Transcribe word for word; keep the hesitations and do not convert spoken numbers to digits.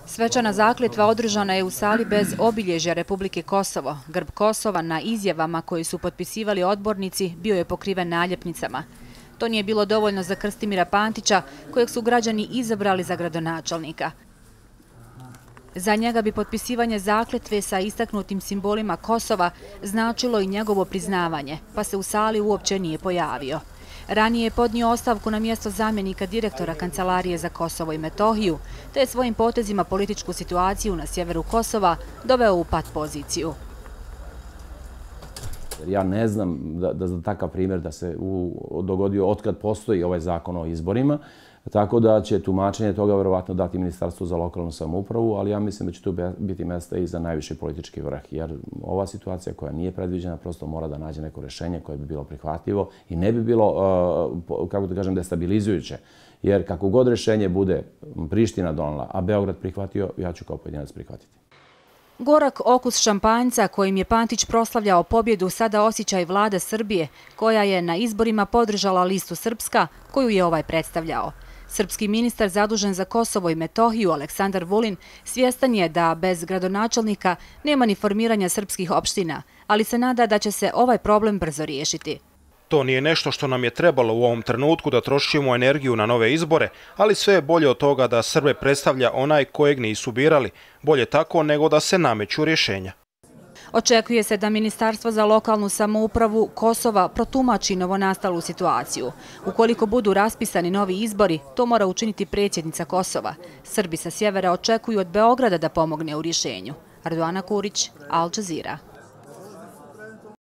Svečana zakletva održana je u sali bez obilježja Republike Kosovo. Grb Kosova na izjavama koje su potpisivali odbornici bio je pokriven naljepnicama. To nije bilo dovoljno za Krstimira Pantića, kojeg su građani izabrali za gradonačelnika. Za njega bi potpisivanje zakletve sa istaknutim simbolima Kosova značilo i njegovo priznavanje, pa se u sali uopće nije pojavio. Ranije je podnio ostavku na mjesto zamjenika direktora Kancelarije za Kosovo i Metohiju, te je svojim potezima političku situaciju na sjeveru Kosova doveo u pat poziciju. Ja ne znam da, da za takav primjer da se u, dogodio otkad postoji ovaj zakon o izborima, tako da će tumačenje toga vjerovatno dati Ministarstvo za lokalnu samoupravu, ali ja mislim da će tu biti mjesta i za najviši politički vrh, jer ova situacija koja nije predviđena prosto mora da nađe neko rješenje koje bi bilo prihvatljivo i ne bi bilo, kako da kažem, destabilizujuće. Jer kako god rješenje bude Priština donela, a Beograd prihvatio, ja ću kao pojedinac prihvatiti. Gorak okus šampanjca kojim je Pantić proslavljao pobjedu sada osjeća i vlada Srbije, koja je na izborima podržala listu Srpska, koju je ovaj predstavljao. Srpski ministar zadužen za Kosovo i Metohiju, Aleksandar Vulin, svjestan je da bez gradonačelnika nema ni formiranja srpskih opština, ali se nada da će se ovaj problem brzo riješiti. To nije nešto što nam je trebalo u ovom trenutku da trošimo energiju na nove izbore, ali sve je bolje od toga da Srbe predstavlja onaj kojeg nisu birali. Bolje tako nego da se nameću rješenja. Očekuje se da Ministarstvo za lokalnu samoupravu Kosova protumači novonastalu situaciju. Ukoliko budu raspisani novi izbori, to mora učiniti predsjednica Kosova. Srbi sa sjevera očekuju od Beograda da pomogne u rješenju. Arduana Kurić, Al Jazeera.